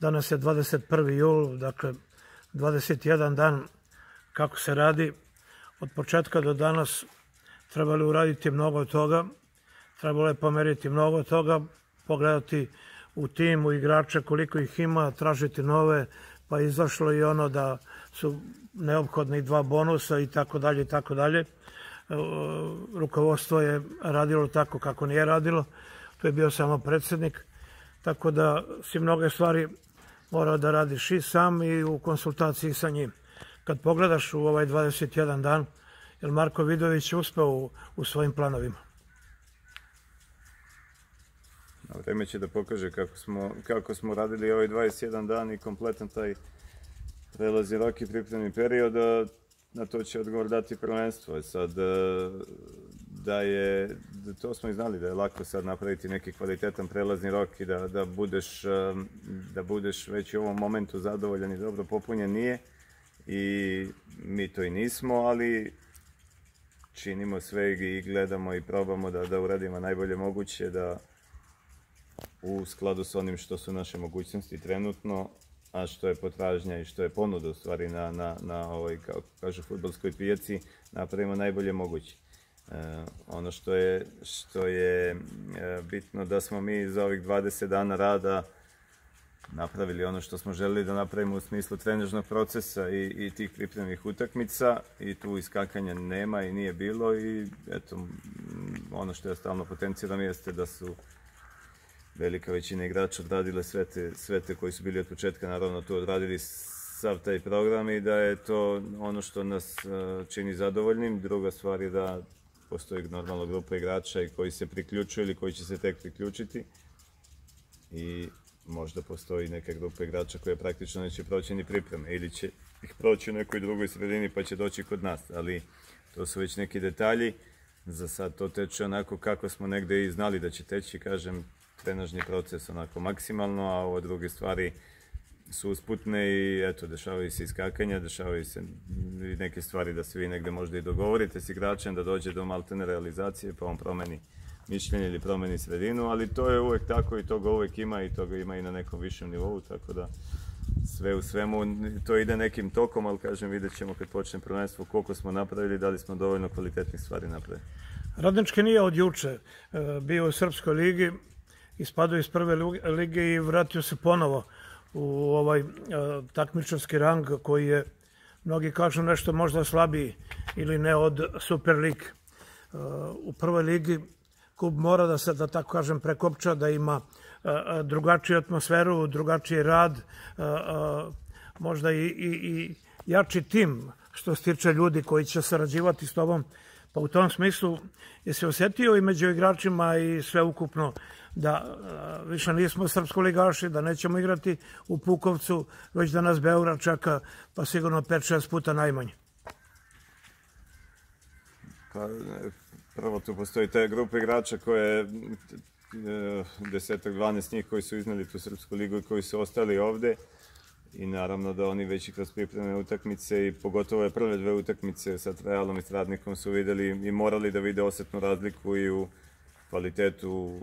Danas je 21. jul, dakle 21 dan kako se radi. Od početka do danas trebalo uraditi mnogo toga, trebalo je pomeriti mnogo toga, pogledati u tim, u igrače koliko ih ima, tražiti nove, pa izašlo i ono da su neophodni 2 bonusa i tako dalje i tako dalje. Rukovodstvo je radilo tako kako nije radilo, to je bio samo predsjednik, tako da si mnoge stvari morao da radiš i sam i u konsultaciji sa njim. Kad pogledaš u ovaj 21 dan, je Marko Vidović uspeo u svojim planovima? Vreme će da pokaže kako smo radili ovaj 21 dan i kompletan taj prelazni rok i pripremni period, na to će odgovor dati prvenstvo. Sad, to smo i znali da je lako sad napraviti neki kvalitetan prelazni rok i da budeš već u ovom momentu zadovoljan i dobro popunjen, nije. I mi to i nismo, ali činimo sve i gledamo i probamo da uradimo najbolje moguće, da u skladu s onim što su naše mogućnosti trenutno, a što je potražnja i što je ponuda u stvari na ovoj, kako kažu, fudbalskoj pijaci, napravimo najbolje moguće. Ono što je bitno da smo mi za ovih 20 dana rada napravili ono što smo želeli da napravimo u smislu trenažnog procesa i tih pripremnih utakmica, i tu iskakanja nema i nije bilo, i eto, ono što ja stalno potenciram jeste da su velika većina igrača odradile sve te koji su bili od početka, naravno tu odradili sav taj program, i da je to ono što nas čini zadovoljnim. Druga stvar je da postoji normalna grupa igrača i koji se priključuju ili koji će se tek priključiti, i možda postoji neka grupa igrača koja praktično neće proći ni pripreme ili će ih proći u nekoj drugoj sredini pa će doći kod nas, ali to su već neki detalji. Za sad to teče onako kako smo negde i znali da će teći, kažem, trenažni proces onako maksimalno, a ovo druge stvari su usputne i eto, dešavaju se iskakanja, dešavaju se neke stvari da se vi negde možda i dogovorite s igračem, da dođe do maltene realizacije pa on promeni mišljenje ili promeni sredinu, ali to je uvek tako i toga uvek ima, i toga ima i na nekom višem nivou, tako da sve u svemu to ide nekim tokom, ali kažem, vidjet ćemo kad počne prvenstvo koliko smo napravili, da li smo dovoljno kvalitetnih stvari napravili. Radnički nije od juče bio u Srpskoj ligi, ispadao iz prve lige i vratio se ponovo u ovaj takmičarski rang koji je, mnogi kažu, nešto možda slabiji ili ne od Super lige. U prvoj ligi klub mora da se, da tako kažem, prekopča, da ima drugačiju atmosferu, drugačiji rad, možda i jači tim što se tiče ljudi koji će sarađivati s tobom. Pa u tom smislu je se osjetio i među igračima i sve ukupno da više nismo srpskoligaši, da nećemo igrati u Pukovcu, već da nas Beograd čeka pa sigurno 5-6 puta najmanje. Pa prvo tu postoji ta grupa igrača koje 10-12 njih koji su izneli tu Srpsku ligu i koji su ostali ovde, i naravno da oni već i kroz pripremne utakmice i pogotovo je prve 2 utakmice sa Realom i s Radnikom su videli i morali da vide osetnu razliku i u kvalitetu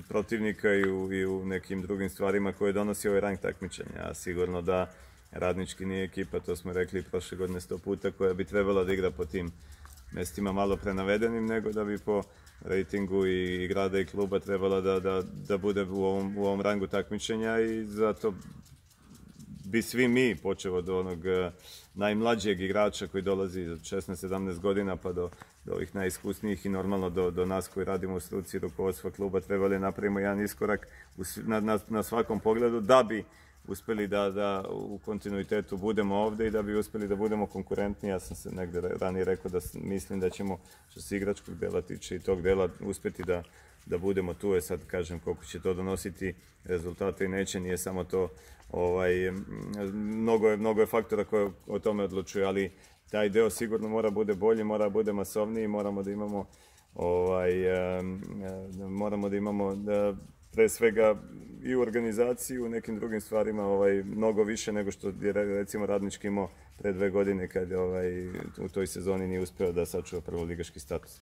protivnika i u nekim drugim stvarima koje donosi ovaj rang takmičenja. A sigurno da Radnički nije ekipa, to smo rekli prošle godine 100 puta, koja bi trebala da igra po tim mestima malo prenavedenim, nego da bi po rejtingu i grada i kluba trebala da bude u ovom rangu takmičenja, i zato bi svi mi, počeo od onog najmlađeg igrača koji dolazi od 16-17 godina pa do ovih najiskusnijih i normalno do nas koji radimo u struci rukovodstva kluba, trebali napravimo jedan iskorak na svakom pogledu da bi uspeli da u kontinuitetu budemo ovde i da bi uspeli da budemo konkurentni. Ja sam se negde ranije rekao da mislim da ćemo, što se igračkog dela tiče i tog dela, uspeti da budemo tu. Sad kažem koliko će to donositi rezultate i neće, nije samo to, mnogo je faktora koje o tome odlučuju, ali taj deo sigurno mora bude bolji, mora bude masovniji, moramo da imamo pre svega i u organizaciji, u nekim drugim stvarima mnogo više nego što je recimo Radnički imao pre 2 godine kad u toj sezoni nije uspeo da sačuva prvoligaški status.